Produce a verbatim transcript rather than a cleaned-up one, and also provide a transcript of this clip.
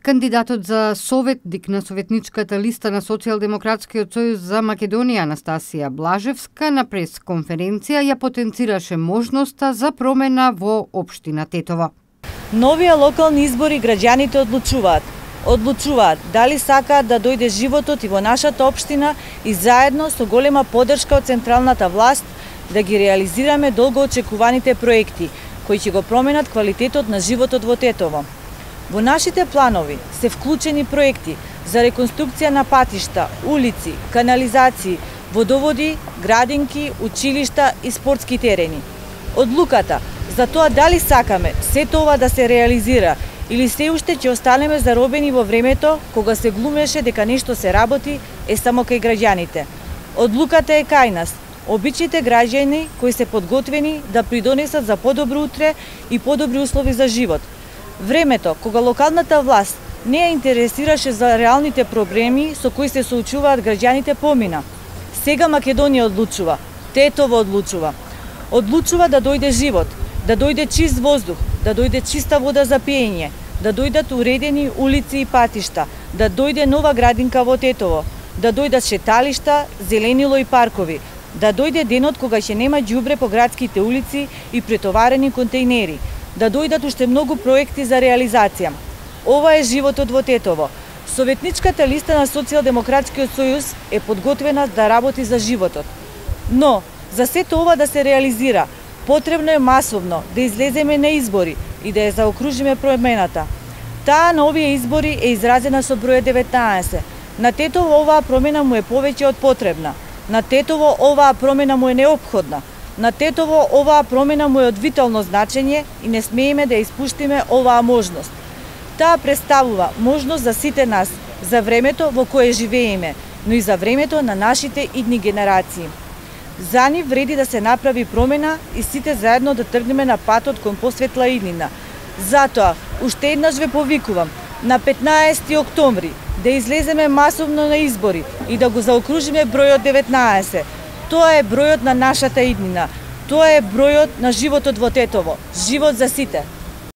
Кандидатот за советник на советничката листа на Социјалдемократскиот сојуз за Македонија Анастасија Блажевска на пресконференција ја потенцираше можноста за промена во општина Тетово. Новија локални избори граѓаните одлучуваат. Одлучуваат дали сакаат да дојде животот и во нашата општина и заедно со голема поддршка од централната власт да ги реализираме долго очекуваните проекти кои ќе го променат квалитетот на животот во Тетово. Во нашите планови се вклучени проекти за реконструкција на патишта, улици, канализации, водоводи, градинки, училишта и спортски терени. Одлуката за тоа дали сакаме сето ова да се реализира или се уште ќе останеме заробени во времето кога се глумеше дека нешто се работи е само кај граѓаните. Одлуката е кај нас, обичните граѓани кои се подготвени да придонесат за подобро утре и подобри услови за живот. Времето кога локалната власт не ја интересираше за реалните проблеми со кои се соочуваат граѓаните помина. Сега Македонија одлучува, Тетово одлучува. Одлучува да дојде живот, да дојде чист воздух, да дојде чиста вода за пиење, да дојдат уредени улици и патишта, да дојде нова градинка во Тетово, да дојдат шеталишта, зеленило и паркови, да дојде денот кога ќе нема ѓубре по градските улици и претоварени контејнери, да дојдат уште многу проекти за реализација. Ова е животот во Тетово. Советничката листа на Социјалдемократскиот сојуз е подготвена да работи за животот. Но, за сето ова да се реализира, потребно е масовно да излеземе на избори и да ја заокружиме промената. Таа на овие избори е изразена со бројот деветнаесет. На Тетово оваа промена му е повеќе од потребна. На Тетово оваа промена му е неопходна. На Тетово оваа промена му е од витално значење и не смееме да испуштиме оваа можност. Таа представува можност за сите нас, за времето во кое живееме, но и за времето на нашите идни генерации. За нив вреди да се направи промена и сите заедно да тргнеме на патот кон посветла иднина. Затоа, уште еднаш ве повикувам, на петнаесети октомври да излеземе масовно на избори и да го заокружиме бројот деветнаесет. Тоа е бројот на нашата иднина. Тоа е бројот на животот во Тетово. Живот за сите.